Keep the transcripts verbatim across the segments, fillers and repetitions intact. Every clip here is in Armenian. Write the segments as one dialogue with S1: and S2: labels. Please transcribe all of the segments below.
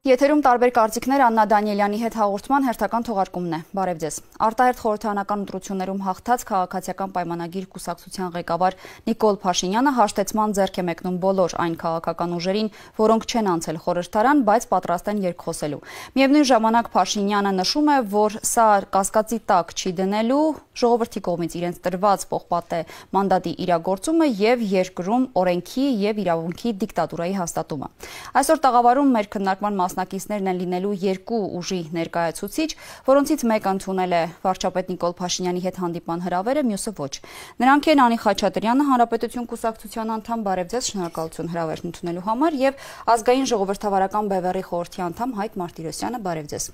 S1: Եթերում տարբեր կարծիքներ Աննա Դանիելյանի հետ հաղորդման հերթական թողարկումն է։ Բարև ձեզ։ Արտահերթ խորհրդարանական ընտրություններում հաղթած քաղաքացիական պայմանագիր կուսակցության ղեկավար Նիկոլ Փաշինյանը հաշտեցման ձեռք է մեկնում բոլոր այն քաղաքական ուժերին, որոնք չեն անցել խորհրդարան, բայց պատրաստ են երկխոսելու։ Միևնույն ժամանակ Փաշինյանը նշում է, որ սա կասկածի տակ չի դնելու ժողովրդի կողմից իրենց տրված պողպատե մանդատի իրագործումը եւ երկրում օրենքի եւ իրավունքի դիկտատուրայի հաստատումը։ Այսօր տաղավարում մեր քննարկման մասնակիցներն են լինելու երկու ուժի ներկայացուցիչ, որոնցից մեկը ընդունել է վարչապետ Նիկոլ Փաշինյանի հետ հանդիպման հրավերը, մյուսը ոչ։ Նրանք են Անի Խաչատրյանը, Հանրապետություն կուսակցության անդամ, բարև ձեզ, շնորհակալություն հրավերն ընդունելու համար, եւ Ազգային ժողովրդավարական բևեռի խորհրդի անդամ Հայկ Մարտիրոսյանը, բարև ձեզ։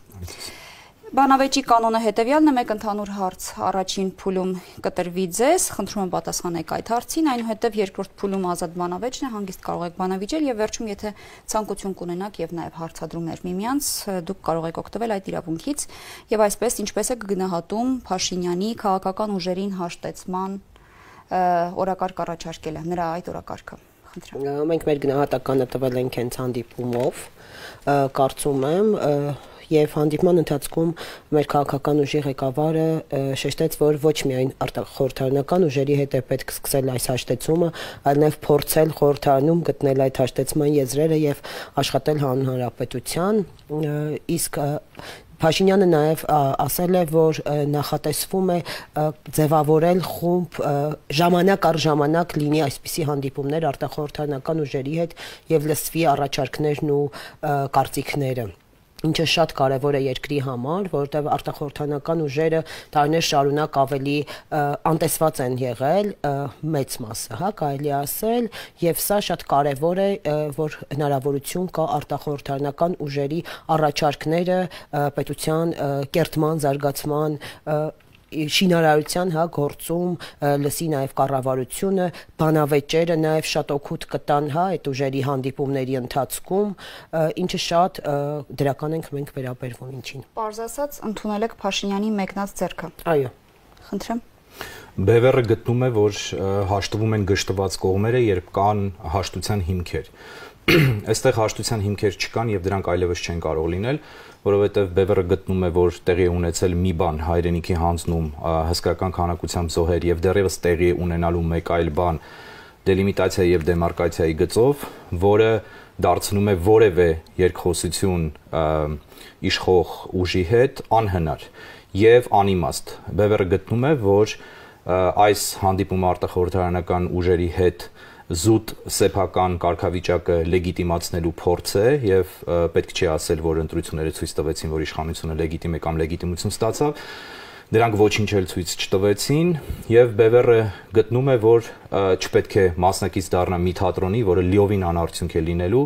S1: Բանավեճի կանոնը հետևյալն է, մեկ ընդհանուր հարց առաջին փուլում կտրվի ձեզ, խնդրում եմ պատասխանեք այդ հարցին, այնուհետև երկրորդ փուլում ազատ բանավեճն է, հանգիստ կարող եք բանավիճել եւ վերջում եթե ցանկություն կունենաք եւ նաեւ հարցադրումներ միմյանց, դուք կարող եք օգտվել այդ իրավունքից եւ այսպես ինչպես է գնահատում Փաշինյանի քաղաքական ուժերին հաշտեցման օրակարգ առաջարկելը, նրա այդ օրակարգը։ Խնդրեմ։
S2: Մենք մեր գնահատականը տվել ենք հենց հանդիպումով, կարծում եմ Եվ հանդիպման ընթացքում մեր քաղաքական ուժի ղեկավարը շեշտեց, որ ոչ միայն խորհրդարանական ուժերի հետ է պետք սկսել այս հաշտեցումը, այլ նաև փորձել խորհրդարանում գտնել այդ հաշտեցման եզրերը եւ աշխատել հանուն հանրապետության, իսկ Փաշինյանը նաև ասել է, որ նախատեսվում է ձևավորել խումբ ժամանակ առ ժամանակ լինի այսպիսի հանդիպումներ արտախորհրդարանական ուժերի հետ եւ լսվի առաջարկներն ու կարծիքները։ Ինչը շատ կարևոր է երկրի համար, որովհետև արտախորհրդարանական ուժերը տարիներ շարունակ ավելի անտեսված են եղել, մեծ մասը, հա, կարելի ասել, եւ սա շատ կարևոր է, որ հնարավորություն կա արտախորհրդարանական ուժերի առաջարկները պետության կերտման, զարգացման շինարարության հա գործում լսի նաև կառավարությունը, բանավեճերը նաև շատ օգուտ կտան հա այդ ուժերի հանդիպումների ընթացքում, ինչը շատ դրական ենք մենք վերաբերվում ինչին։
S1: Պարզ ասած, ընդունել եք Փաշինյանի մեկնած ձեռքը։
S2: Այո։
S1: Խնդրեմ։
S3: Բևեռը գտնում է, որ հաշտվում են գշտված կողմերը, երբ կան հաշտության հիմքեր։ Այստեղ հաշտության հիմքեր չկան եւ դրանք այլևս չեն կարող լինել, որովհետեւ Բևեռը գտնում է, որ տեղի է ունեցել մի բան հայրենիքի հանձնում հսկայական քանակությամբ զոհեր եւ դեռևս տեղի է ունենալու մեկ այլ բան դելիմիտացիա եւ դեմարկացիայի գծով, որը դարձնում է որևէ երկխոսություն իշխող ուժի հետ անհնար եւ անիմաստ։ Բևեռը գտնում է, որ այս հանդիպումը արտախորհրդարանական ուժերի հետ զուտ սեփական կարգավիճակը լեգիտիմացնելու փորձ է եւ պետք չի ասել, որ ընտրությունները ցույց տվեցին, որ իշխանությունը լեգիտիմ է կամ լեգիտիմություն ստացավ, դրանք ոչինչ էլ ցույց չտվեցին եւ Բևեռը գտնում է, որ չպետք է մասնակից դառնա մի թատրոնի, որը լիովին անարդյունք է լինելու,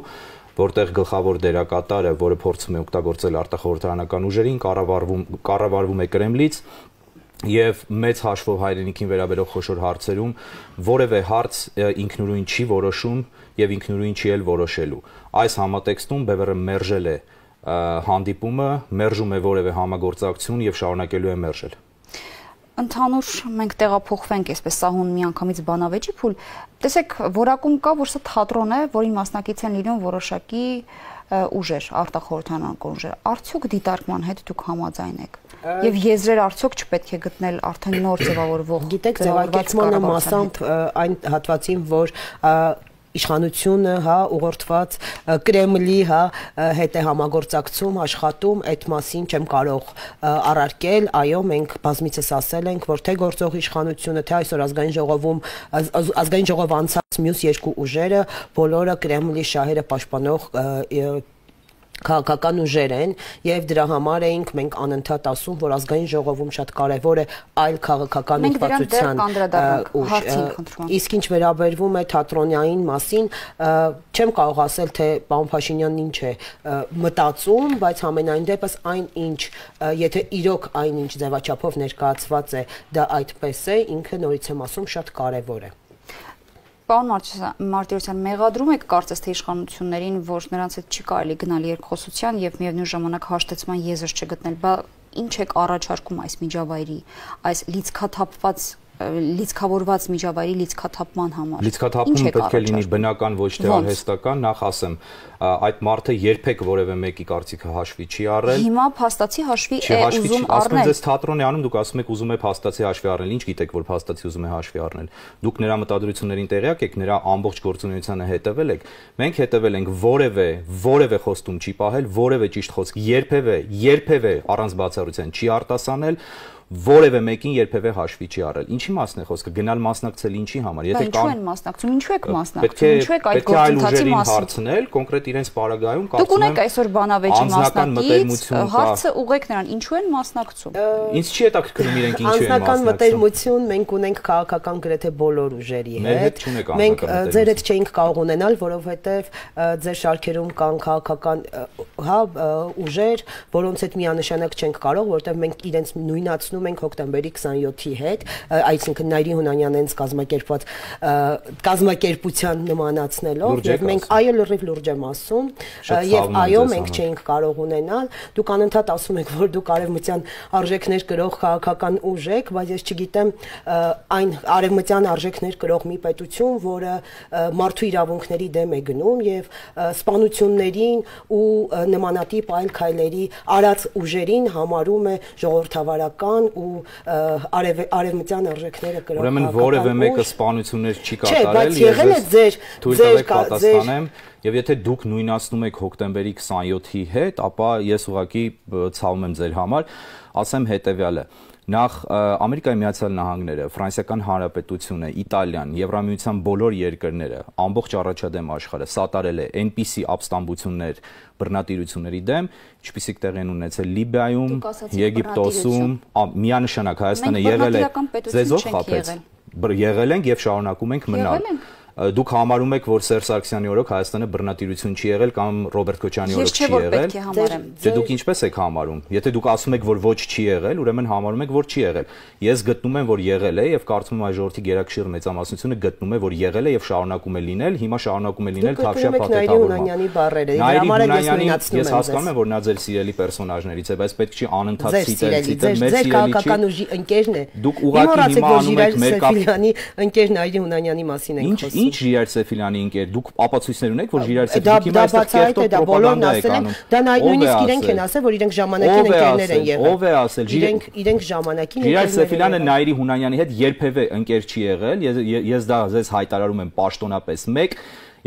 S3: որտեղ գլխավոր դերակատարը, որը փորձում է օգտագործել արտախորհրդարանական ուժերին, կառավարվում կառավարվում է Կրեմլից եւ մեծ հաշվով հայրենիքին վերաբերող խոշոր հարցերում որևէ հարց ինքնուրույն չի որոշում եւ ինքնուրույն չի էլ որոշելու։ Այս համատեքստում Բևեռը մերժել է հանդիպումը, մերժում է որևէ համագործակցություն եւ շարունակելու է մերժել։
S1: Ընդհանուր մենք տեղափոխվենք այսպես սահուն միանգամից բանավեճի փուլ, տեսեք, որակում կա, որ սա թատրոն է, որին մասնակից են լինում որոշակի ուժեր, արտախորհրդարանական ուժեր, արդյոք դիտարկման հետ դուք համաձայն եք եւ եզրեր արդյոք չպետք է գտնել արդեն նոր ձևավորվող։
S2: Գիտեք, ձևակերպմանը մասամբ այն հատվածին, որ իշխանությունը, հա, ուղղորդված Կրեմլի, հա, հետ է համագործակցում, աշխատում, այդ մասին չեմ կարող առարկել, այո, մենք բազմիցս ասել ենք, որ թե գործող իշխանությունը, թե այսօր ազգային ժողովում, ազգային ժողով անցած մյուս երկու ուժերը, բոլորը Կրեմլի շահերը պաշտպանող քաղաքական ուժեր են եւ դրա համար էինք մենք անընդհատ ասում, որ ազգային ժողովում շատ կարեւոր է այլ քաղաքական ուղղվածության ուժ։ Իսկ ինչ վերաբերվում է թատրոնային մասին, չեմ կարող ասել, թե պարոն Փաշինյանն ինչ է մտածում, բայց համենայն դեպս այն ինչ, եթե իրոք այն ինչ ձևաչափով ներկայացված է, դա այդպես է, ինքը նորից եմ ասում, շատ կարեւոր է։
S1: Պարոն Մարտիրոսյան, մեղադրում եք կարծես թե իշխանություններին, որ նրանց հետ չի կարելի գնալ երկխոսության եւ միևնույն ժամանակ հաշտեցման եզր չգտնել, բա ինչ եք առաջարկում այս միջավայրի, այս լիցքաթափված լիցքավորված միջավայրի լիցքաթափման համար։
S3: Լիցքաթափումը պետք է լինի բնական, ոչ թե արհեստական, նախ ասեմ, այդ մարդը երբեք որևէ մեկի կարծիքը հաշվի չի առել։
S1: Հիմա փաստացի հաշվի է ուզում առնել։
S3: Ասում ես թատրոն է անում, դուք ասում եք ուզում է փաստացի հաշվի առնել, ինչ գիտեք, որ փաստացի ուզում է հաշվի առնել։ Դուք նրա մտադրություններին տեղյակ եք, նրա ամբողջ գործունեությանը հետևել եք։ Մենք հետևել ենք որևէ որևէ խոստում չի պահել, որևէ ճիշտ խոսք երբևէ, երբևէ առանց բացառության չի արտասանել, որևէ մեկին երբևէ հաշվի չի առել։ Ինչի մասն է խոսքը, գնալ մասնակցել ինչի համար։
S1: Եթե կան են մասնակցում, ինչու եք մասնակցում, ինչու եք այդ գործընթացի մասին
S3: հարցնել, կոնկրետ իրենց պարագայում
S1: կարծում եմ։ Դուք ունեք այսօր բանավեճի մասնակից, հարցը ուղղեք նրան, ինչու են մասնակցում։
S3: Ինձ չի հետաքրքրում իրենք ինչու են մասնակցում։
S2: Անձնական մտերմություն մենք ունենք քաղաքական գրեթե բոլոր ուժերի հետ։ Մենք ձեր հետ չէինք կարող ունենալ, որովհետև ձեր շարքերում կան քաղաքական հա ուժեր, որոնց հետ միանշանակ չենք կարող, որովհետև մենք իրենց նույնացնում ենք հոկտեմբերի քսանյոթի հետ, այսինքն Նայիրի Հունանյանը հենց կազմակերպված կազմակերպության նմանացնելով, եւ մենք այո լրիվ լուրջ եմ ասում, եւ այո մենք չէինք կարող ունենալ, դուք անընդհատ ասում եք, որ դուք արևմտյան արժեքներ կրող քաղաքական ուժ եք, բայց ես չգիտեմ այն արևմտյան արժեքներ կրող մի պետություն, որը մարդու իրավունքների դեմ է գնում եւ սպանություններին ու նմանատիպ այլ քայլերի արած ուժերին համարում է ժողովրդավարական ու արևմտյան արժեքները կրող
S3: ուրեմն որևէ մեկը սպանություններ չի կատարել
S2: եւ
S3: թույլ տվեք պատասխանեմ եւ եթե դուք նույնացնում եք հոկտեմբերի քսանյոթի հետ, ապա ես ուղղակի ցավում եմ ձեր համար, ասեմ հետեւյալը Նախ Ամերիկայի Միացյալ Նահանգները, Ֆրանսիական Հանրապետությունը, Իտալիան, Եվրամիության բոլոր երկրները, ամբողջ առաջադեմ աշխարհը սատարել է այնպիսի ապստամբություններ, բռնատիրությունների դեմ, ինչպիսիք տեղի են ունեցել Լիբիայում, Եգիպտոսում, միանշանակ Հայաստանը եղել է ձեզով խաբեց, եղել ենք եւ շարունակում ենք մնալ։ Դուք համարում եք, որ Սերժ Սարգսյանի օրոք Հայաստանը բռնատիրություն չի եղել կամ Ռոբերտ Քոչարյանի օրոք չի եղել։ Դե դուք ինչպես եք համարում։ Եթե դուք ասում եք, որ ոչ չի եղել, ուրեմն համարում եք, որ չի եղել։ Ես գտնում եմ, որ եղել է եւ կարծում եմ այս ժողովրդի գերակշիռ մեծամասնությունը գտնում է, որ եղել է եւ շարունակում է լինել, հիմա շարունակում է լինել թավշյա փաթեթավորման։ Ես հասկանում եմ, որ նա ձեր սիրելի պերսոնաժներից է, բայց պետք չի անընդհատ ցիտել, ցիտել մեր սիրելի
S2: քաղաքական ուժի ընկերն է։
S3: Դուք ուղղակի հիմա անում եք մեր
S2: կապիտանի ընկեր Նայիրի Հունանյանի մասին եք խոսում։
S3: Ինչ Ժիրայր Սեֆիլյանի ընկեր, դուք ապացույցներ ունեք, որ Ժիրայր Սեֆիլյանը այստեղ կերտող պրոպագանդա է անում։
S2: Դա նույնիսկ իրենք են ասել, որ իրենք ժամանակին ընկերներ են եղել։
S3: Ով է ասել։
S2: Իրենք իրենք ժամանակին
S3: Ժիրայր Սեֆիլյանը Նայիրի Հունանյանի հետ երբևէ ընկեր չի եղել։ Ես դա ձեզ հայտարարում եմ պաշտոնապես մեկ,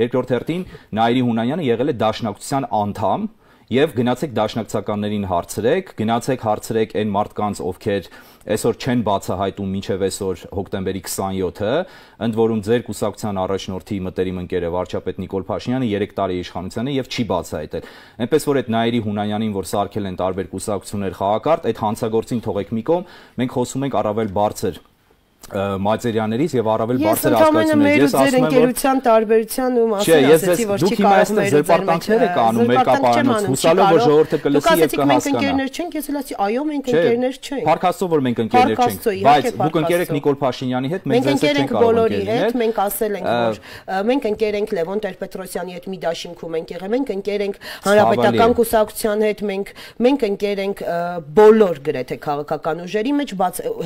S3: երկրորդ հերթին Նայիրի Հունանյանը եղել է Դաշնակցության անդամ եւ գնացեք դաշնակցականներին հարցրեք, գնացեք հարցրեք այն մարդկանց, ովքեր այսօր չեն բացահայտում մինչև այսօր հոկտեմբերի քսանյոթը, ընդ որում ձեր կուսակցության առաջնորդի մտերիմ ընկերը վարչապետ Նիկոլ Փաշինյանը երեք տարի իշխանության է եւ չի բացահայտել։ Այնպես որ այդ Նայիրի Հունանյանին, որ սարքել են տարբեր կուսակցություններ խաղակարգ, այդ հանցագործին թողեք մի կողմ, մենք խոսում ենք առավել բարձր մատերիալներից եւ առավել բարձր հասկացություններից։
S2: Ես ասում եմ, որ ընկերության տարբերության ու մասին ասեցի, որ չի կարող մեր
S3: զերպարտանքներ եք անում մեր կապարանոց, հուսալով որ ժողովուրդը կլսի եւ կհասկանա։
S2: Մենք ընկերներ չենք, ես էլ ասի, այո, մենք ընկերներ չենք։
S3: Փառք Աստծո, որ մենք ընկերներ չենք, բայց դուք ընկեր եք Նիկոլ Փաշինյանի հետ, մենք ձեզ չենք կարող ընկերներ։
S2: Մենք ասել ենք, որ մենք ընկեր ենք Լևոն Տեր-Պետրոսյանի հետ մի դաշինքում ենք եղել, մենք ընկեր ենք Հանրապետական կուսակցության հետ, մենք մենք ընկեր ենք բոլոր գրեթե քաղաքական ուժերի մեջ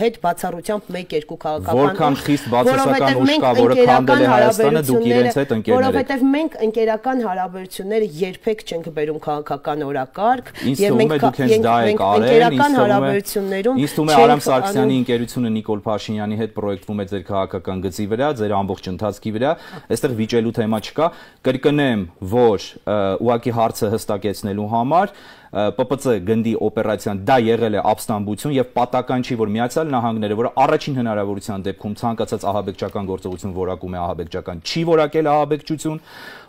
S2: հետ բացառությամբ մեկ-երկու
S3: Որքան խիստ բացասական ուժ կա, որը քանդել է Հայաստանը, դուք իրենց հետ ընկերներ եք։
S2: Որովհետև մենք ընկերական հարաբերությունները երբեք չենք բերում քաղաքական օրակարգ,
S3: եւ մենք մենք
S2: ընկերական հարաբերություններում
S3: ինձ թվում է Արամ Սարգսյանի ընկերությունը Նիկոլ Փաշինյանի հետ պրոյեկտվում է ձեր քաղաքական գծի վրա, ձեր ամբողջ ընթացքի վրա, այստեղ վիճելու թեմա չկա։ Կրկնեմ, որ ուղղակի հարցը հստակեցնելու համար Պ Պ Ց գնդի օպերացիան դա եղել է ապստամբություն եւ պատական չի, որ Միացյալ Նահանգները, որը առաջին հնարավորության դեպքում ցանկացած ահաբեկչական գործողություն որակում է ահաբեկչական, չի որակել ահաբեկչություն,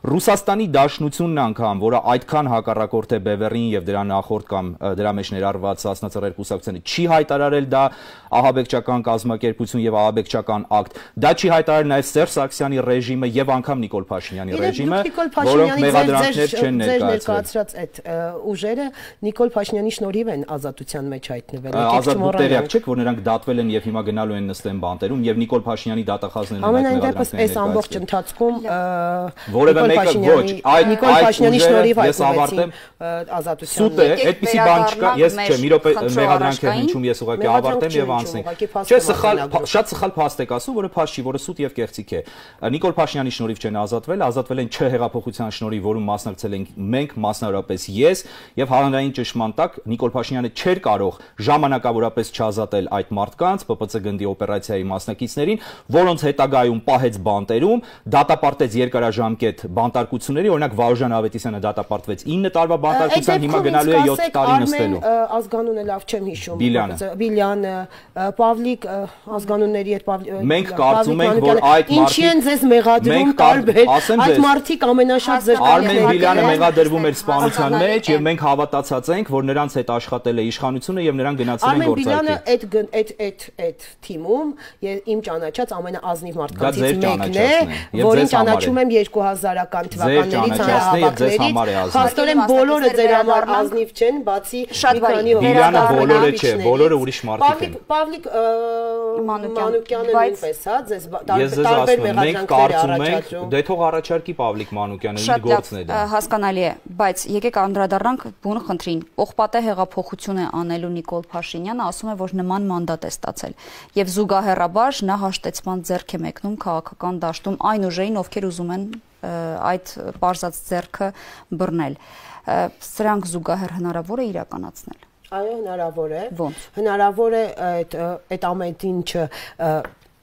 S3: Ռուսաստանի Դաշնությունն անգամ, որը այդքան հակառակորդ է Բևերին եւ դրա նախորդ կամ դրա մեջ ներառված Սասնա-Ծռեր կուսակցությանը, չի հայտարարել դա ահաբեկչական կազմակերպություն եւ ահաբեկչական ակտ, դա չի հայտարարել նաեւ Սերժ Սարգսյանի ռեժիմը եւ անգամ Նիկոլ Փաշինյանի ռեժիմը, որոնք մեղադրանքներ չեն ներկայացրել։
S2: Այդ ուժերը Նիկոլ Փաշինյանի շնորհիվ են ազատության մեջ հայտնվել։
S3: Ազատ տեղյակ չեք, որ նրանք դատվել են եւ հիմա գնալու են նստեն բանտերում եւ Նիկոլ Փաշինյանի դատախազներն են
S2: Ամենայն դեպս այս ամբողջ ընթացքում
S3: որևէ մեկը ոչ, այդ
S2: Նիկոլ Փաշինյանի շնորհիվ
S3: ես ավարտեմ
S2: ազատության։
S3: Սուտ է, այդպեսի բան չկա, ես չէ, մի րոպե մեղադրանք է հնչում, ես ուղղակի ավարտեմ եւ անցնենք։ Չէ, սխալ, շատ սխալ փաստ եք ասում, որը փաստ չի, որը սուտ եւ կեղծիք է։ Նիկոլ Փաշինյանի շնորհիվ չեն ազատվել, ազատվել են չհեղափոխության շնորհիվ, որում մասնակցել ենք մենք, մասնավորապես ես, եւ հանրային ճշմարտ տակ Նիկոլ Փաշինյանը չէր կարող ժամանակավորապես չազատել այդ մարդկանց Պ Պ Ց գնդի օպերացիայի մասնակիցներին, որոնց հետագայում պահեց բանտերում, դատապարտեց երկարաժամկետ բանտարկությունների, օրինակ Վարուժան Ավետիսյանը դատապարտվեց ինը տարվա բանտարկության, հիմա գնալու է յոթ տարի նստելու։
S2: Ազգանունը լավ չեմ հիշում։ Բիլյանը, Պավլիկ ազգանունների հետ
S3: մենք կարծում ենք, որ այդ մարդիկ
S2: ինչի են ձեզ մեղադրում տարբեր, այդ մարդիկ ամենաշատ ձեր
S3: Արմեն Բիլյանը մեղադրվում էր սպանության մեջ եւ մենք հավատացած ենք, որ նրանց հետ աշխատել է իշխանությունը եւ նրանք գնացել են գործարկել։
S2: Արմեն Բիլյանը այդ այդ այդ այդ թիմում իմ ճանաչած ամենաազնիվ մարդկանցից մեկն է, որին ճանաչում եմ երկու հազարական թվականներից հանրահավաքներից։ Փաստորեն բոլորը ձեր համար ազնիվ չեն, բացի մի քանի
S3: Բիլյանը բոլորը չէ, բոլորը ուրիշ մարդիկ են։
S2: Պավլիկ Մանուկյանը նույնպես, հա, ձեզ տարբեր մեղադրանքներ առաջադրում։
S3: Դե թող առաջարկի Պավլիկ Մանուկյանը, իր գործն է դա։
S1: Հասկանալի է, բայց եկեք անդրադառնանք բուն խնդրին։ Պողպատե հեղափոխություն է անելու Նիկոլ Փաշինյանը, ասում է, որ նման մանդատ է ստացել եւ զուգահեռաբար նա հաշտեցման ձեռք է մեկնում քաղաքական դաշտում այն ուժերին, ովքեր ուզում են այդ պարզած ձեռքը բռնել։ Սրանք զուգահեռ հնարավոր է իրականացնել։
S2: Այո, հնարավոր է։
S1: Ոնց։
S2: Հնարավոր է այդ այդ ամեն ինչը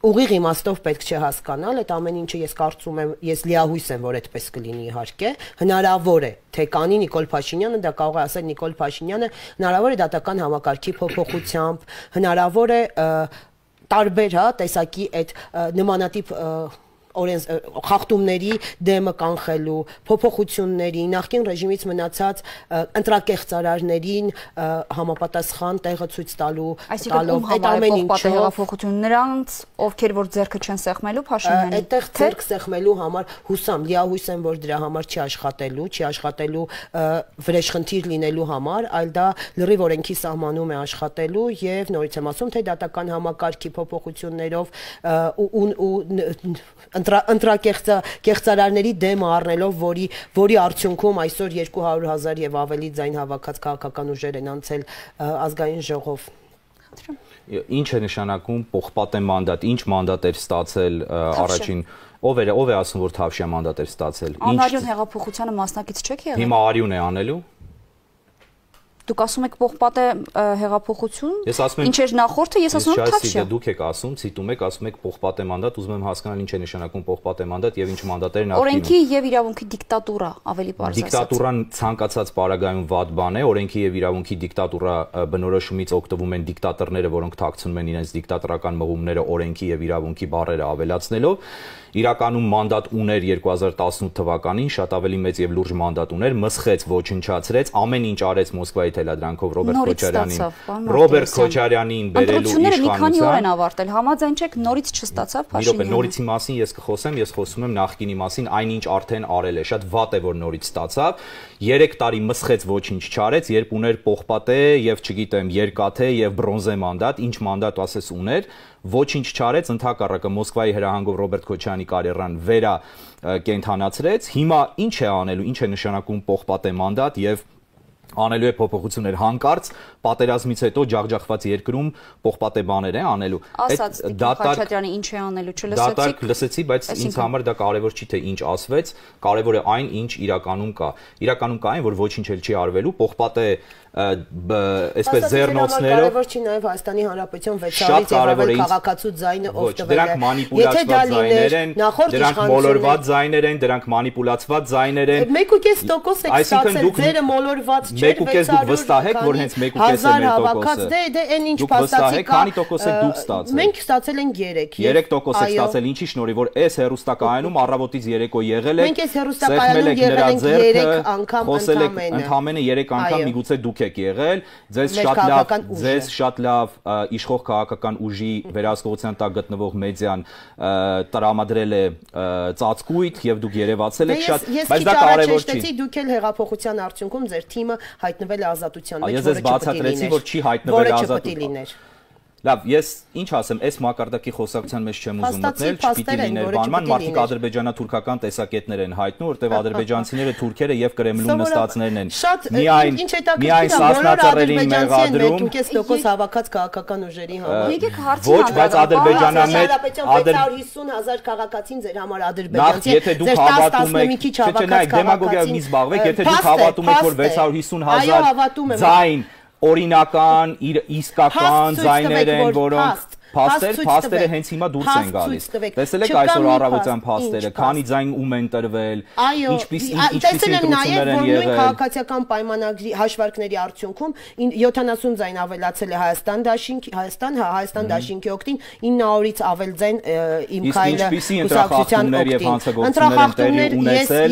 S2: ուղիղ իմաստով պետք չէ հասկանալ, այդ ամեն ինչը ես կարծում եմ, ես լիահույս եմ, որ այդպես կլինի իհարկե, հնարավոր է, թե կանի Նիկոլ Փաշինյանը, դա կարող է ասել Նիկոլ Փաշինյանը, հնարավոր է դատական համակարգի փոփոխությամբ, հնարավոր է տարբեր, հա, տեսակի այդ նմանատիպ օրենս խախտումների դեմը կանխելու, փոփոխությունների, նախկին ռեժիմից մնացած ընտրակեղծարարներին համապատասխան տեղը ցույց տալու, տալով այդ ամեն ինչը
S1: հեղափոխություն նրանց, ովքեր որ ձեռքը չեն սեղմելու Փաշինյանի։
S2: Այդտեղ ձեռք սեղմելու համար հուսամ, լիահույս եմ, որ դրա համար չի աշխատելու, չի աշխատելու վրեժխնդիր լինելու համար, այլ դա լրիվ օրենքի սահմանում է աշխատելու եւ նորից եմ ասում, թե դատական համակարգի փոփոխություններով ու ընտրակեղծարարների դեմ առնելով, որի որի արդյունքում այսօր երկու հարյուր հազար եւ ավելի ձայն հավաքած քաղաքական ուժեր են անցել ազգային ժողով։
S3: Ինչ է նշանակում պողպատե մանդատ, ինչ մանդատ էր ստացել առաջին, ով էր, ով է ասում, որ Թավշյա մանդատ էր ստացել։
S1: Անարյուն հեղափոխությանը մասնակից չեք եղել։
S3: Հիմա արյուն է անելու։
S1: Դուք ասում եք պողպատե հեղափոխություն, ինչ էր նախորդը, ես ասում եմ Թավշյա։
S3: Դուք եք ասում, ցիտում եք, ասում եք պողպատե մանդատ, ուզում եմ հասկանալ ինչ է նշանակում պողպատե մանդատ եւ ինչ մանդատներ նախկինում։
S1: Օրենքի եւ իրավունքի դիկտատուրա, ավելի պարզ ասած։
S3: Դիկտատուրան ցանկացած պարագայում վատ բան է, օրենքի եւ իրավունքի դիկտատուրա բնորոշումից օգտվում են դիկտատորները, որոնք թաքցնում են իրենց դիկտատորական մղումները օրենքի եւ իրավունքի բառերը ավելացնելով։ Իրականում մանդատ ուներ երկու հազար տասնութ թվականին, շատ ավելի մեծ եւ լուրջ մանդատ ուներ, մսխեց, ոչնչացրեց, ամեն ինչ արեց Մոսկվայի թելադրանքով Ռոբերտ Քոչարյանին։ Ռոբերտ Քոչարյանին բերելու իշխանության։
S1: Մի քանի օր են ավարտել, համաձայն չեք, նորից չստացավ Փաշինյանը։
S3: Նորիցի մասին ես կխոսեմ, ես խոսում եմ նախկինի մասին, այնինչ արդեն արել է, շատ վատ է, որ նորից ստացավ։ երեք տարի մսխեց, ոչինչ չարեց, երբ ուներ պողպատե եւ չգիտեմ, երկաթե եւ բրոնզե մանդատ, ինչ մանդատ ասես ուներ, ոչինչ չարեց, ընդհակառակը Մոսկվայի հրահանգով Ռոբերտ Քոչարյանի կարիերան վերա կենթանացրեց։ Հիմա ինչ է անելու, ինչ է նշանակում պողպատե մանդատ եւ անելու է փոփոխություններ հանկարծ պատերազմից հետո ջախջախված երկրում պողպատե բաներ է անելու։
S1: Ասաց Խաչատրյանը ինչ է անելու, չլսեցիք։
S3: Դատարկ լսեցի, բայց ինձ համար դա կարևոր չի, թե ինչ ասվեց, կարևոր է այն, ինչ իրականում կա։ Իրականում կա այն, որ ոչինչ էլ չի արվելու, պողպատե այսպես ձեռնոցներով
S2: կարևոր չի նաև Հայաստանի Հանրապետության վեցարից եղել քաղաքացու ձայնը ով տվել է։
S3: Դրանք մանիպուլացված ձայներ են, դրանք մոլորված ձայներ են, դրանք մանիպուլացված ձայներ են։
S2: մեկ ու կես տոկոս եք ստացել, ձերը մոլորված չէ,
S3: մեկ ու կես դուք վստահ եք, որ հենց մեկ ու կես է մեր տոկոսը։
S2: Դե դե այն ինչ փաստացի կա։
S3: Քանի տոկոս եք դուք ստացել։
S2: Մենք ստացել ենք երեք։
S3: երեք տոկոս եք ստացել, ինչի շնորհիվ որ այս հերոստակայանում առավոտից երեկո եղել եք։
S2: Մենք այս հերոստակայանում եղել ենք երեք անգամ ընդամենը։
S3: Ընդամենը երեք անգամ միգուցե դուք եք եղել, ձեզ շատ լավ, ձեզ շատ լավ իշխող քաղաքական ուժի վերահսկողության տակ գտնվող մեդիան տրամադրել է ծածկույթ եւ դուք երևացել եք շատ, բայց դա կարևոր չի։
S2: Դուք էլ հեղափոխության արդյունքում ձեր թիմը հայտնվել է ազատության մեջ,
S4: որը բացատրեցի, որ չի հայտնվել
S2: ազատության։
S4: Լավ, ես ինչ ասեմ, այս մակարդակի խոսակցության մեջ չեմ ուզում մտնել, չպիտի լիներ բանման, մարդիկ ադրբեջանա-թուրքական տեսակետներ են հայտնում, որտեղ ադրբեջանցիները թուրքերը եւ Կրեմլում նստածներն են։ Միայն միայն սասնածռերին մեղադրում,
S2: ինքես տոկոս հավաքած քաղաքական ուժերի համար։
S1: Եկեք հարցին
S4: ոչ, բայց Ադրբեջանա մեջ
S2: շեշտած հիսուն հազար քաղաքացին ձեր համար ադրբեջանցի։
S4: Եթե դուք հավատում եք, չէ, նայեք, դեմագոգիայով մի զբաղվեք, եթե դուք հավատում եք, որ վեց հարյուր հիսուն հազար ձայն օրինական, իսկական ձայներ են, որոնք փաստեր, փաստերը հենց հիմա դուրս են գալիս։ Տեսել եք այսօր առավոտյան փաստերը, քանի ձայն ում են տրվել, ինչպես ինչպիսի ընտրություններ են եղել։
S2: Քաղաքացիական պայմանագրի հաշվարկների արդյունքում յոթանասուն ձայն ավելացել է Հայաստան դաշինքի, Հայաստան, հա, Հայաստան դաշինքի օգտին, ինը հարյուրից ավել ձայն Իմ Քայլը կուսակցության օգտին։ Ընտրախախտումներ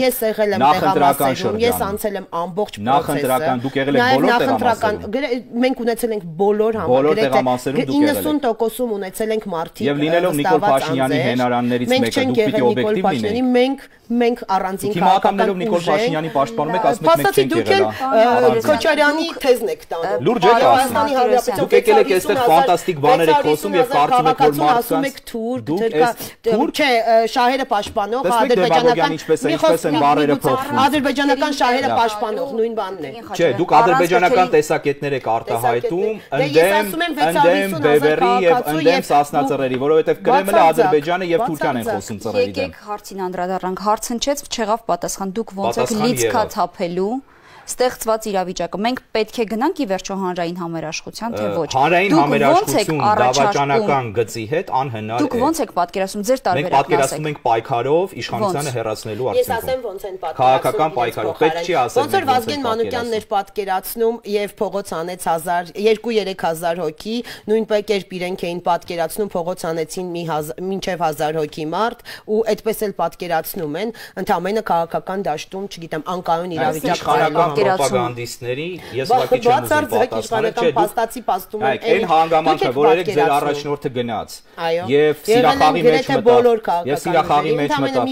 S2: ես եղել եմ տեղամասերում, ես անցել եմ ամբողջ պրոցեսը։
S4: Նախընտրական, դուք եղել եք բոլոր տեղամասերում։
S2: Մենք ունեցել ենք բոլոր
S4: բոլոր տեղամասերում դուք եղել եք։
S2: իննսուն տոկոսում ունեցել ենք մարդիկ
S4: եւ լինելով Նիկոլ Փաշինյանի հենարաններից մեկը դուք պիտի օբյեկտիվ լինեք։
S2: Մենք մենք առանձին
S4: քաղաքականներով Նիկոլ Փաշինյանի պաշտպանում եք, ասում եք մենք չենք
S2: եղել։ Քոչարյանի թեզն եք տանում։
S4: Լուրջ եք ասում։ Դուք եկել եք այստեղ ֆանտաստիկ բաներ եք խոսում եւ կարծում եք որ մարդկանց
S2: ասում եք թուրք, թուրք, չէ, շահերը պաշտպանող, ադրբեջանական
S4: ինչպես են բարերը փոխվում։
S2: Ադրբեջանական շահերը պաշտպանող նույն բանն է։
S4: Չէ, դուք ադրբեջանական տեսակետներ եք արտահայտում, ընդդեմ ընդդեմ Բևերի եւ ընդդեմ Սասնածռերի, որովհետեւ Կրեմլը, Ադրբեջանը եւ Թուրքիան են խոսում ծռերի դեմ։
S1: Եկեք հարցին անդրադառնանք, հարց հնչեց, չեղավ պատասխան, դուք ոնց եք լիցքա թափելու ստեղծված իրավիճակը։ Մենք պետք է գնանք ի վերջո հանրային համերաշխության, թե ոչ։
S4: Հանրային համերաշխություն դավաճանական գծի հետ անհնար է։
S1: Դուք ոնց եք պատկերացնում ձեր տարբերակն ասեք։
S4: Մենք պատկերացնում ենք պայքարով իշխանությանը հեռացնելու արդյունքում։
S2: Ես ասեմ ոնց են պատկերացնում։
S4: Քաղաքական պայքարով պետք չի ասել։
S2: Ոնց որ Վազգեն Մանուկյանն էր պատկերացնում եւ փողոց անեց երկու-երեք հազար հոգի, նույնպես կերպ իրենք էին պատկերացնում, փողոց անեցին մի մինչեւ հազար հոգի մարդ ու այդպես էլ պատկերացնում են, ընդհանրապես քաղաքական դաշտում, չգիտեմ, անկայուն իրավիճակ
S3: պրոպագանդիստների ես ուղղակի չեմ ուզում պատասխանել, չէ,
S2: փաստացի փաստում են
S4: այն հանգամանքը, որ երեք ձեր առաջնորդը գնաց եւ Սիրախաղի մեջ մտավ, եւ Սիրախաղի մեջ մտավ,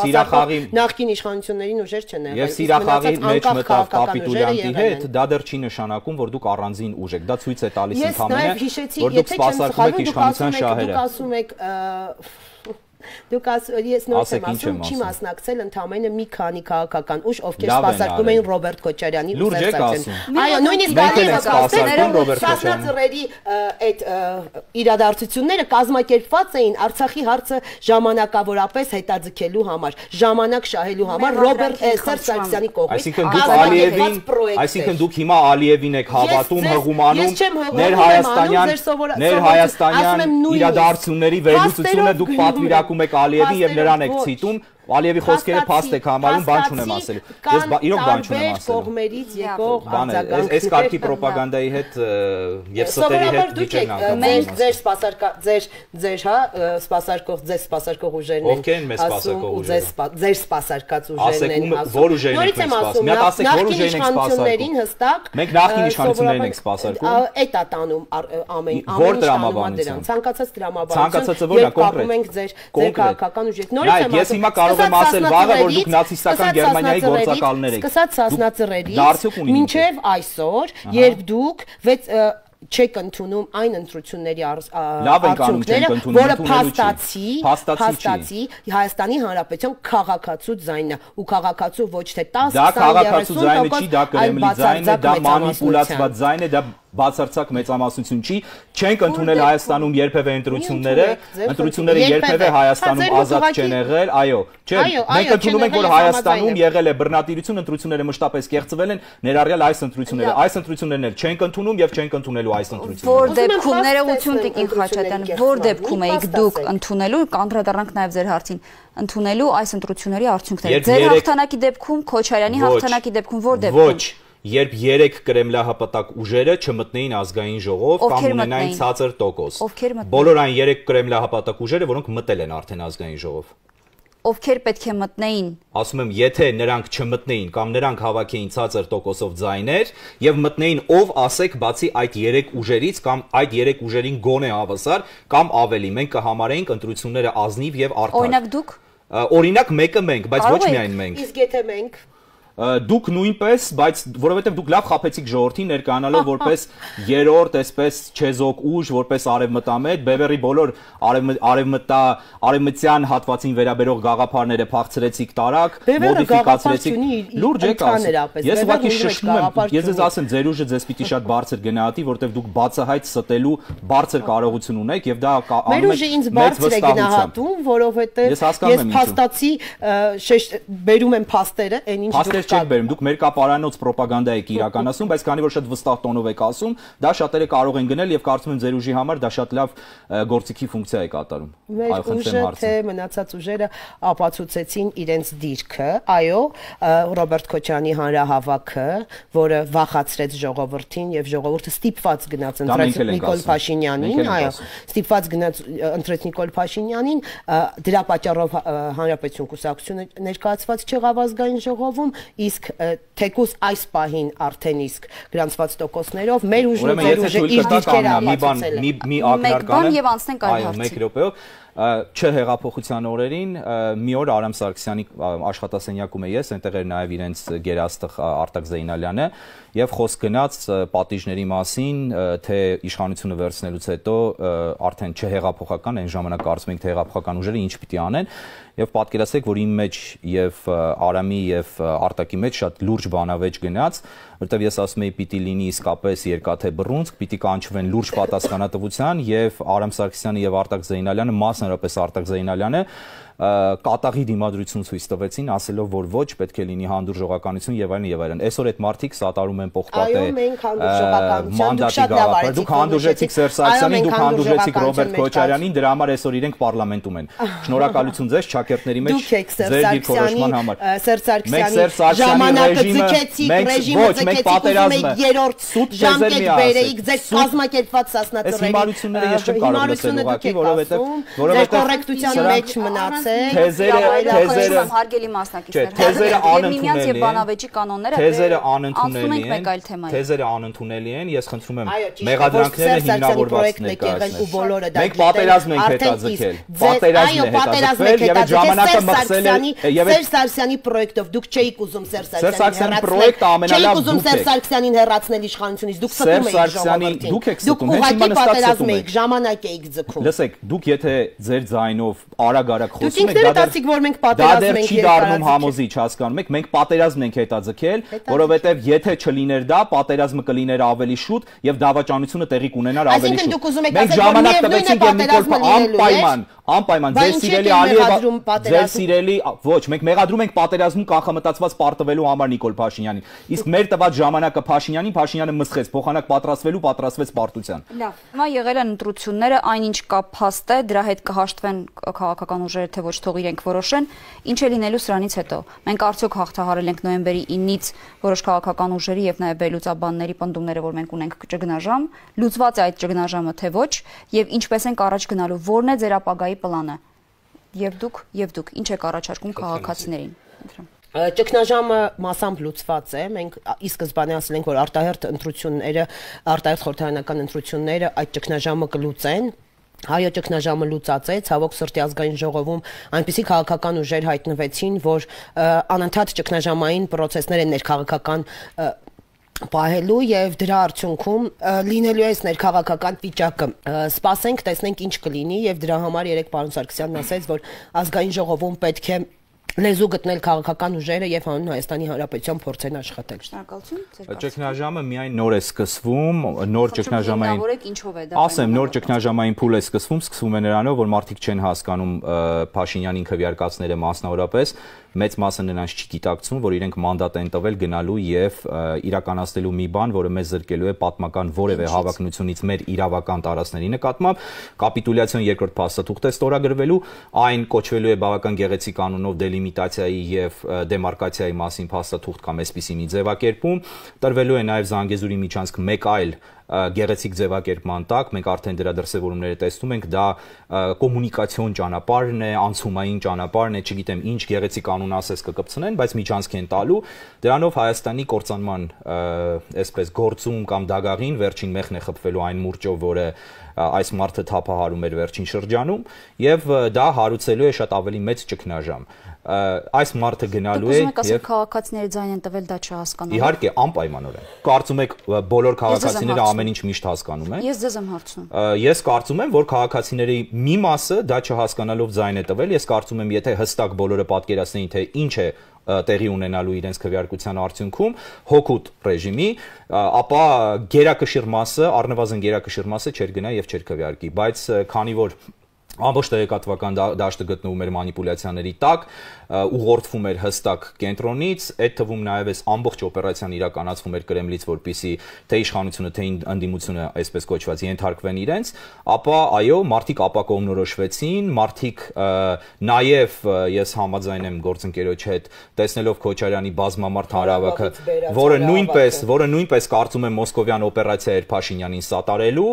S2: Սիրախաղի նախկին իշխանություններին ուժեր չեն եղել,
S4: եւ Սիրախաղի մեջ մտավ կապիտուլյանտի հետ, դա դեռ չի նշանակում, որ դուք առանձին ուժ եք, դա ցույց է տալիս ընդհանրապես, որ դուք սպասարկում եք իշխանության շահերը։
S2: Դուք ասում եք Դուք ես նույնպես եմ ասում, չի մասնակցել ընդամենը մի քանի քաղաքական ուժ, ովքեր սպասարկում էին Ռոբերտ Քոչարյանի
S4: ու Սերժակյանի։
S2: Այո, նույնիսկ Սասնածռերի այդ իրադարձությունները կազմակերպված էին Արցախի հարցը ժամանակավորապես հետաձգելու համար, ժամանակ շահելու համար Ռոբերտ Սերժ Սարգսյանի կողմից։
S4: Այսինքն դուք Ալիևին, այսինքն դուք հիմա Ալիևին եք հավատում, հղումանում, ներ հայաստանյան, ներ հայաստանյան իրադարձությունների վերլուծությունը դուք պատվիրակում եք Ալիևին եւ նրան եք ցիտում, Ալիևի խոսքերը փաստ եք համարում, բան չունեմ ասելու։ Ես իրոք բան չունեմ ասելու։
S2: Կողմերից եկող արձագանքներ։
S4: Այս կարգի ռոպագանդայի հետ եւ ստերի հետ դիճեն անգամ։
S2: Մենք ձեր սպասարկա ձեր ձեր հա սպասարկող ձեր սպասարկող ուժերն են։
S4: Ովքեր են մեզ սպասարկող ուժերը։
S2: Ձեր սպասարկած ուժերն են
S4: ասում։ Որ ուժերն են սպասում։ Մի ասեք որ ուժերն են սպասարկում։
S2: Հստակ։
S4: Մենք նախին իշխանություններին ենք սպասարկում։
S2: Այդ է տանում ամեն
S4: ամեն տրամաբանություն։
S2: Ցանկացած տրամաբանություն։
S4: Ցանկացածը որն է կոնկրետ։
S2: Մենք ձեր ձեր քաղաքական ուժեր։ Նորից եմ
S4: ասում։ Ես հիմա կարող եմ ասել վաղը, որ դուք նացիստական Գերմանիայի գործակալներ եք։
S2: Սկսած Սասնածռերից մինչև այսօր, երբ դուք չեք ընդունում այն ընտրությունների արդյունքները, որը փաստացի, փաստացի Հայաստանի Հանրապետության քաղաքացու ձայնն է, ու քաղաքացու ոչ թե տասը,
S4: քսան, երեսուն տոկոս, դա քաղաքացու ձայնը չի, դա Կրեմլի ձայնն է, դա մանիպուլացված ձայն է, դա բացարձակ մեծամասնություն չի, չենք ընդունել Հայաստանում երբևէ ընտրությունները, ընտրությունները երբևէ Հայաստանում ազատ չեն եղել, այո, չէ, մենք ընդունում ենք, որ Հայաստանում եղել է բռնատիրություն, ընտրությունները մշտապես կեղծվել են, ներառյալ այս ընտրությունները, այս ընտրություններն էլ չենք ընդունում եւ չենք ընդունելու այս ընտրությունները։
S1: Որ դեպքում ներողություն Տիկին Խաչատյան, որ դեպքում եք դուք ընդունելու, կանդրադառնանք նաեւ ձեր հարցին, ընդունելու այս ընտրությունների արդյունքները։ Ձեր հաղթանակի դեպքում, Քոչարյանի հաղթանակի դեպքում որ դեպքում։
S3: Ոչ, երբ երեք կրեմլահպատակ ուժերը չմտնեին ազգային ժողով կամ ունենային ցածր տոկոս։ Բոլոր այն երեք կրեմլահպատակ ուժերը, որոնք մտել են արդեն ազգային ժողով։
S1: Ովքեր պետք է մտնեին։
S3: Ասում եմ, եթե նրանք չմտնեին կամ նրանք հավաքեին ցածր տոկոսով ձայներ եւ մտնեին ով ասեք բացի այդ երեք ուժերից կամ այդ երեք ուժերին գոնե հավասար կամ ավելի, մենք կհամարեինք ընտրությունները ազնիվ եւ արդար։
S1: Օրինակ դուք։
S3: Օրինակ մեկը մենք, բայց ոչ միայն մենք։
S2: Իսկ եթե մենք
S4: դուք նույնպես, բայց որովհետև դուք լավ խաբեցիք ժողովրդին ներկայանալով որպես երրորդ, այսպես չեզոք ուժ, որպես արևմտամետ, Բևերի բոլոր արևմտա արևմտյան հատվածին վերաբերող գաղափարները փախցրեցիք տարակ, մոդիֆիկացրեցիք։ Լուրջ եք ասում։ Ես ուղղակի շշտում եմ, ես ձեզ ասեմ, ձեր ուժը ձեզ պիտի շատ բարձր գնահատի, որովհետև դուք բացահայտ ստելու բարձր կարողություն ունեք եւ դա
S2: անում եք ինձ բարձր է գնահատում, որովհետև ես փաստացի բերում եմ փաստերը, այն ինչ
S4: դուք չեք բերում, դուք մերկապարանոց պրոպագանդա եք իրականացնում, բայց քանի որ շատ վստահ տոնով եք ասում, դա շատերը կարող են գնել եւ կարծում եմ ձեր ուժի համար դա շատ լավ գործիքի ֆունկցիա է կատարում։
S2: Մեր ուժը թե մնացած ուժերը ապացուցեցին իրենց դիրքը, այո, Ռոբերտ Քոչարյանի հանրահավաքը, որը վախացրեց ժողովրդին եւ ժողովուրդը ստիպված գնաց ընտրեց Նիկոլ Փաշինյանին, այո, ստիպված գնաց ընտրեց Նիկոլ Փաշինյանին, դրա պատճառով Հանրապետություն կուսակցությունը ներկայացված չեղավ ազգային ժողովում, իսկ թեկուզ այս պահին արդեն իսկ գրանցված տոկոսներով մեր ուժը ձեր ուժը իր դիրքերը ապացուցել է։
S4: Մի ակնարկան
S1: եւ անցնենք այլ հարցի։
S4: Մեկ րոպեով չհեղափոխության օրերին մի օր Արամ Սարգսյանի աշխատասենյակում է ես, այնտեղ էր նաև իրենց գերաստղ Արտակ Զեյնալյանը եւ խոսք գնաց պատիժների մասին, թե իշխանությունը վերցնելուց հետո արդեն չհեղափոխական, այն ժամանակ կարծում ենք թե հեղափոխական ուժերը ինչ պիտի անեն եւ պատկերացրեք, որ իմ մեջ եւ Արամի եւ Արտակի մեջ շատ լուրջ բանավեճ գնաց, որտեղ ես ասում եի պիտի լինի իսկապես երկաթե բռունցք, պիտի կանչվեն լուրջ պատասխանատվության եւ Արամ Սարգսյանը եւ Արտակ Զեյնալյանը, մասնավորապես Արտակ Զեյնալյանը կատաղի դիմադրություն ցույց տվեցին, ասելով որ ոչ, պետք է լինի հանդուրժողականություն եւ այլն եւ այլն։ Այսօր այդ մարդիկ սատարում են պողպատե մանդատի գաղափար։ Դուք հանդուրժեցիք Սերժ Սարգսյանին, դուք հանդուրժեցիք Ռոբերտ Քոչարյանին, դրա համար այսօր իրենք պարլամենտում են։ Շնորհակալություն ձեզ չակերտների մեջ ձեր դիրքորոշման համար։
S2: Սերժ Սարգսյանի ժամանակը ձգեցիք, ռեժիմը ձգեցիք, եք երրորդ ժամկետ բերեիք, ձեր կազմակերպված սասնաձորերի։
S4: Հիմարությունները ես չեմ կարող լսել ուղղակի, որովհետեւ
S2: որովհետեւ կոռեկտության մեջ մնաց
S4: թեզերը թեզերը
S1: հարգելի մասնակիցներ,
S4: թեզերը անընդունելի
S1: են, բանավեճի կանոնները
S4: թեզերը անընդունելի են, թեզերը անընդունելի են, ես խնդրում եմ մեղադրանքները հիմնավորված ներկայացնել։ Մենք պատերազմ ենք հետաձգել, պատերազմ է հետաձգվել եւ այդ ժամանակը մխսել է եւ
S2: Սերժ Սարգսյանի պրոյեկտով դուք չէիք ուզում Սերժ
S4: Սարգսյանի պրոյեկտը ամենալավ
S2: դուք եք ուզում Սերժ Սարգսյանին հեռացնել իշխանությունից, դուք ստում եք
S4: ժողովրդին, դուք եք ստում,
S2: հենց հիմա նստած եք, ժամանակ եք ձգում։
S4: Լսեք, դուք եթե ձեր ձայնով արագ-արագ
S2: խոսում եք, դա
S4: դեռ չի դառնում համոզիչ, հասկանում եք, մենք պատերազմ ենք հետաձգել, որովհետև եթե չլիներ դա, պատերազմը կլիներ ավելի շուտ եւ դավաճանությունը տեղի կունենար ավելի շուտ։ Մենք ժամանակ տվեցինք եւ Նիկոլ անպայման, անպայման ձեր սիրելի Ալիևը, ձեր սիրելի, ոչ, մենք մեղադրում ենք պատերազմում կանխամտածված պարտվելու համար Նիկոլ Փաշինյանին։ Իսկ մեր տված ժամանակը Փաշինյանին, Փաշինյանը մսխեց, փոխանակ պատրաստվելու, պատրաստվեց պարտության։
S1: Լավ, հիմա եղել են ընտրությունները, այնինչ կա փաստ է, դրա հետ կհաշտվեն քաղաքական ուժերը, թե ոչ թող իրենք որոշեն, ինչ է լինելու սրանից հետո։ Մենք արդյոք հաղթահարել ենք նոյեմբերի ինից որոշ քաղաքական ուժերի եւ նաեւ բելուծաբանների պնդումները, որ մենք ունենք ճգնաժամ, լուծված է այդ ճգնաժամը թե ոչ, եւ ինչպես ենք առաջ գնալու, որն է ձեր ապագայի պլանը։ Եվ դուք, եւ դուք ինչ եք առաջարկում քաղաքացիներին։
S2: Ճգնաժամը մասամբ լուծված է, մենք ի սկզբանե ասել ենք, որ արտահերթ ընտրությունները, արտահերթ խորհրդարանական ընտրությունները այդ ճգնաժամը կլուծեն։ Հայո ճգնաժամը լուծած է, ցավոք սրտի ազգային ժողովում այնպիսի քաղաքական ուժեր հայտնվեցին, որ անընդհատ ճգնաժամային process-ներ են ներքաղաքական պահելու եւ դրա արդյունքում լինելու է ներքաղաքական վիճակը։ Սպասենք, տեսնենք ինչ կլինի եւ դրա համար երեք պարոն Սարգսյանն ասաց, որ ազգային ժողովում պետք է լեզու գտնել քաղաքական ուժերը եւ հանուն Հայաստանի Հանրապետության փորձեն աշխատել։
S1: Շնորհակալություն։
S4: Ճգնաժամը միայն նոր է սկսվում, նոր ճգնաժամային։
S1: Ինչով է դա։
S4: Ասեմ, նոր ճգնաժամային փուլ է սկսվում, սկսվում է նրանով, որ մարդիկ չեն հասկանում Փաշինյանին քվեարկածները մասնավորապես, մեծ մասը նրանց չգիտակցում, որ իրենք մանդատ են տվել գնալու եւ իրականացնելու մի բան, որը մեզ զրկելու է պատմական որևէ հավակնությունից մեր իրավական տարածքների նկատմամբ, կապիտուլյացիոն երկրորդ փաստաթուղթ է ստորագրվելու, այն կոչվելու է բավական գեղեցիկ անունով դելիմիտացիայի եւ դեմարկացիայի մասին փաստաթուղթ կամ այսպիսի մի ձևակերպում, տրվելու է նաեւ Զանգեզուրի միջանցք մեկ այլ
S3: գեղեցիկ ձևակերպման տակ, մենք արդեն դրա դրսևորումները տեսնում ենք, դա կոմունիկացիոն ճանապարհն է, անցումային ճանապարհն է, չգիտեմ ինչ գեղեցիկ անուն ասես կկպցնեն, բայց միջանցք են տալու, դրանով Հայաստանի կործանման այսպես գործում կամ դագաղին վերջին մեղն է խփվելու այն մուրճով, որը այս մարդը թափահարում էր վերջին շրջանում, եւ դա հարուցելու է շատ ավելի մեծ ճգնաժամ։ Այս մարդը գնալու է
S1: եւ քաղաքացիների ձայն են տվել, դա չհասկանալու։
S3: Իհարկե, անպայմանորեն։ Կարծում եք բոլոր քաղաքացիները ամեն ինչ միշտ հասկանում են։
S1: Ես ձեզ եմ հարցնում։
S3: Ես կարծում եմ, որ քաղաքացիների մի մասը դա չհասկանալով ձայն է տվել, ես կարծում եմ, եթե հստակ բոլորը պատկերացնեին, թե ինչ է տեղի ունենալու իրենց քվեարկության արդյունքում հոգուտ ռեժիմի, ապա գերակշիռ մասը, առնվազն գերակշիռ մասը չէր գնա եւ չէր քվեարկի, բայց քանի որ ամբողջ տեղեկատվական դաշտը գտնվում էր մանիպուլյացիաների տակ, ուղղորդվում էր հստակ կենտրոնից, այդ թվում նաև այս ամբողջ օպերացիան իրականացվում էր Կրեմլից, որպեսզի թե իշխանությունը, թե ընդդիմությունը, այսպես կոչված, ենթարկվեն իրենց, ապա այո, մարդիկ ապակողմնորոշվեցին, մարդիկ նաև ես համաձայն եմ գործընկերոջ հետ, տեսնելով Քոչարյանի բազմամարդ հանրահավաքը, որը նույնպես, որը նույնպես կարծում եմ մոսկովյան օպերացիա էր Փաշինյանին սատարելու,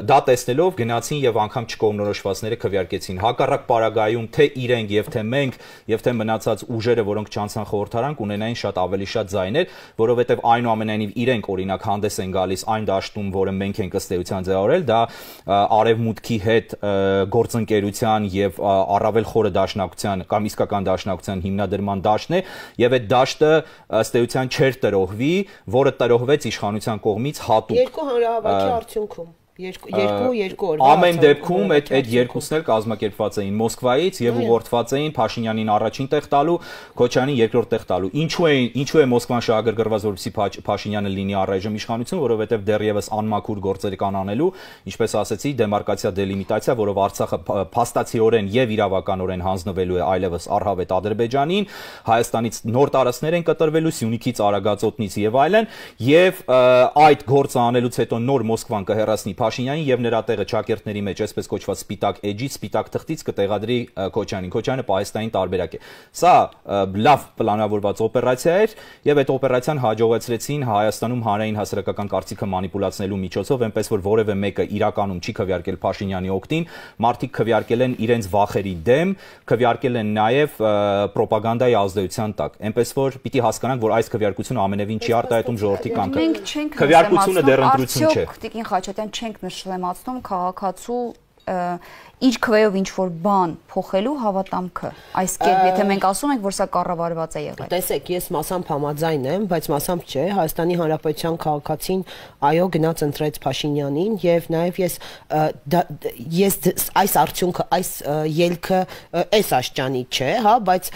S3: դա տեսնելով գնացին եւ անգամ չկողմնորոշվածները քվեարկեցին։ Հակառակ պարագայում թե իրենք եւ թե մենք եւ թե մնացած ուժերը, որոնք չանցան խորհրդարան, կունենային շատ ավելի շատ ձայներ, որովհետեւ այնուամենայնիվ իրենք օրինակ հանդես են գալիս այն դաշտում, որը մենք ենք ըստ էության ձևավորել, դա արևմուտքի հետ գործընկերության եւ առավել խորը դաշնակցության կամ իսկական դաշնակցության հիմնադրման դաշտն է եւ այդ դաշտը ըստ էության չէր տրոհվի, որը տրոհվեց իշխանության կողմից հատուկ
S2: երկու հանրահավաքի արդյունքում Երկու երկու օր
S3: ամեն դեպքում այդ այդ երկուսն էլ կազմակերպված էին Մոսկվայից եւ ուղղորդված էին Փաշինյանին առաջին տեղ տալու, Քոչարյանին երկրորդ տեղ տալու։ Ինչու է ինչու է Մոսկվան շահագրգռված, որպեսզի Փաշինյանը լինի առայժմ իշխանություն, որովհետեւ դեռևս անմաքուր գործեր կան անելու, ինչպես ասեցի, դեմարկացիա, դելիմիտացիա, որով Արցախը փաստացիորեն եւ իրավականորեն հանձնվելու է այլևս առհավետ Ադրբեջանին, Հայաստանից նոր տարածքներ են կտրվելու, Սյունիքից, Արագածոտնից եւ այլն, եւ այդ գործը անելուց հետո նոր Մոսկվան կհեռացնի Փաշինյանին եւ նրա տեղը ճակերտների մեջ, այսպես կոչված սպիտակ էջից, սպիտակ թղթից կտեղադրի Քոչարյանին։ Քոչարյանը պահեստային տարբերակ է։ Սա լավ պլանավորված օպերացիա էր եւ այդ օպերացիան հաջողեցրեցին Հայաստանում հանրային հասարակական կարծիքը մանիպուլացնելու միջոցով, այնպես որ որևէ մեկը իրականում չի քվեարկել Փաշինյանի օգտին, մարդիկ քվեարկել են իրենց վախերի դեմ, քվեարկել են նաեւ ռոպագանդայի ազդեցության տակ։ Այնպես որ պիտի հասկանանք, որ այս քվեարկությունը ամենևին չի արտահայտում ժողովրդի կամքը։ Քվեարկությունը դեռ ընտրություն չէ։
S1: Տիկին Խաչատյան, չենք նշլեմացնում քաղաքացու իր քվեով ինչ որ բան փոխելու հավատամքը։ Այս կերպ, եթե մենք ասում ենք, որ սա կառավարված է եղել։
S2: Տեսեք, ես մասամբ համաձայն եմ, բայց մասամբ չէ, Հայաստանի Հանրապետության քաղաքացին այո գնաց ընտրեց Փաշինյանին եւ նաեւ ես ես այս արդյունքը, այս ելքը այս աշճանի չէ, հա, բայց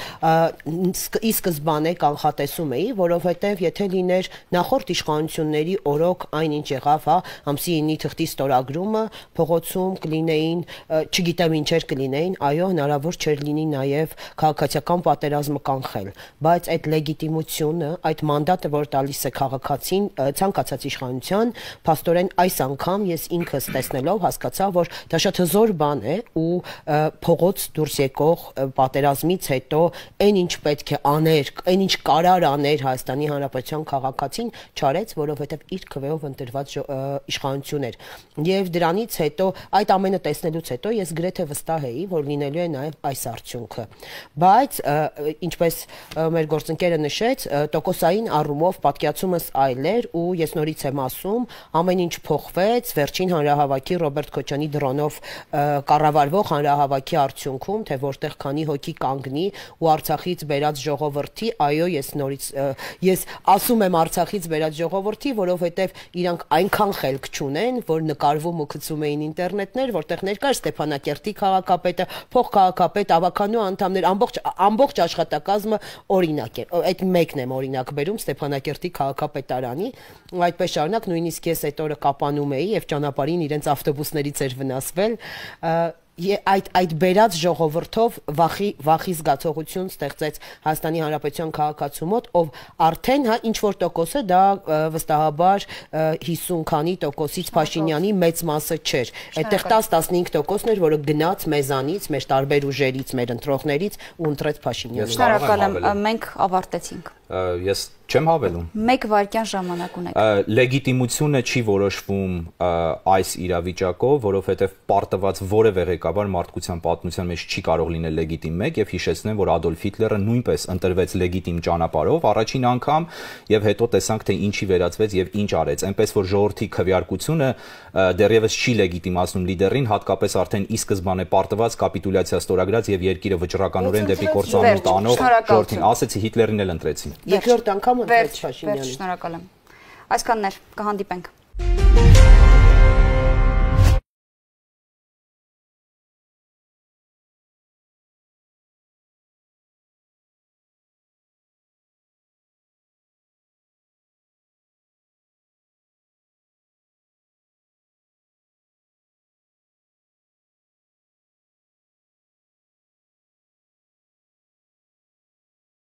S2: ի սկզբանե կանխատեսում էի, որովհետեւ եթե լիներ նախորդ իշխանությունների օրոք այնինչ եղավ, հա, ամսի ինի թղթի ստորագրումը, փողոցում կլինեին չգիտեմ ինչեր կլինեին, այո, հնարավոր չէր լինի նաև քաղաքացիական պատերազմը կանխել, բայց այդ լեգիտիմությունը, այդ մանդատը, որ տալիս է քաղաքացին, ցանկացած իշխանության, փաստորեն այս անգամ ես ինքս տեսնելով հասկացա, որ դա շատ հզոր բան է ու փողոց դուրս եկող պատերազմից հետո այն ինչ պետք է աներ, այն ինչ կարար աներ Հայաստանի Հանրապետության քաղաքացին, չարեց, որովհետև իր քվեով ընտրված իշխանություն էր։ Եվ դրանից հետո այդ ամենը տեսնելուց հետո ես գրեթե վստահ էի, որ լինելու է նաև այս արդյունքը։ Բայց ինչպես մեր գործընկերը նշեց, տոկոսային առումով պատկերացումս այլ էր ու ես նորից եմ ասում, ամեն ինչ փոխվեց վերջին հանրահավաքի Ռոբերտ Քոչյանի դրոնով կառավարվող հանրահավաքի արդյունքում, թե որտեղ քանի հոգի կանգնի ու Արցախից բերած ժողովրդի, այո, ես նորից ես ասում եմ Արցախից բերած ժողովրդի, որովհետև իրանք այնքան խելք չունեն, որ նկարվում ու գցում էին ինտերնետներ, որտեղ ներկա Ստեփանակերտի քաղաքապետը, փոխքաղաքապետ, ավականու անդամներ, ամբողջ ամբողջ աշխատակազմը օրինակ է։ Այդ մեկն եմ օրինակ բերում Ստեփանակերտի քաղաքապետարանի, այդպես շարունակ նույնիսկ ես այդ օրը կապանում էի եւ ճանապարհին իրենց ավտոբուսներից էր վնասվել։ Այդ այդ բերած ժողովրդով վախի վախի զգացողություն ստեղծեց Հայաստանի Հանրապետության քաղաքացու մոտ, ով արդեն հա ինչ որ տոկոսը դա վստահաբար հիսուն քանի տոկոսից Փաշինյանի մեծ մասը չէր։ Այդտեղ տաս տասնհինգ տոկոսն էր, որը գնաց մեզանից, մեր տարբեր ուժերից, մեր ընտրողներից ու ընտրեց Փաշինյանին։
S1: Շնորհակալ եմ, մենք ավարտեցինք։
S3: Ես Չեմ հավելում։
S1: Մեկ վայրկյան ժամանակ ունեք։
S3: Լեգիտիմությունը չի որոշվում այս իրավիճակով, որովհետև պարտված որևէ ղեկավար մարդկության պատմության մեջ չի կարող լինել լեգիտիմ մեկ, եւ հիշեցնեմ, որ Ադոլֆ Հիտլերը նույնպես ընտրվեց լեգիտիմ ճանապարհով առաջին անգամ, եւ հետո տեսանք, թե ինչի վերածվեց եւ ինչ արեց։ Այնպես որ ժողովրդի քվեարկությունը դեռևս չի լեգիտիմացնում լիդերին, հատկապես արդեն ի սկզբանե պարտված կապիտուլյացիա ստորագրած եւ երկիրը վճռականորեն դեպի կործանումն տանող ժողովրդին, ասեցի Հիտլերին էլ ընտրեցին։
S2: Երկրորդ անգամ
S1: Վերջ, շնորհակալ եմ։ Այսքանն էր, կհանդիպենք։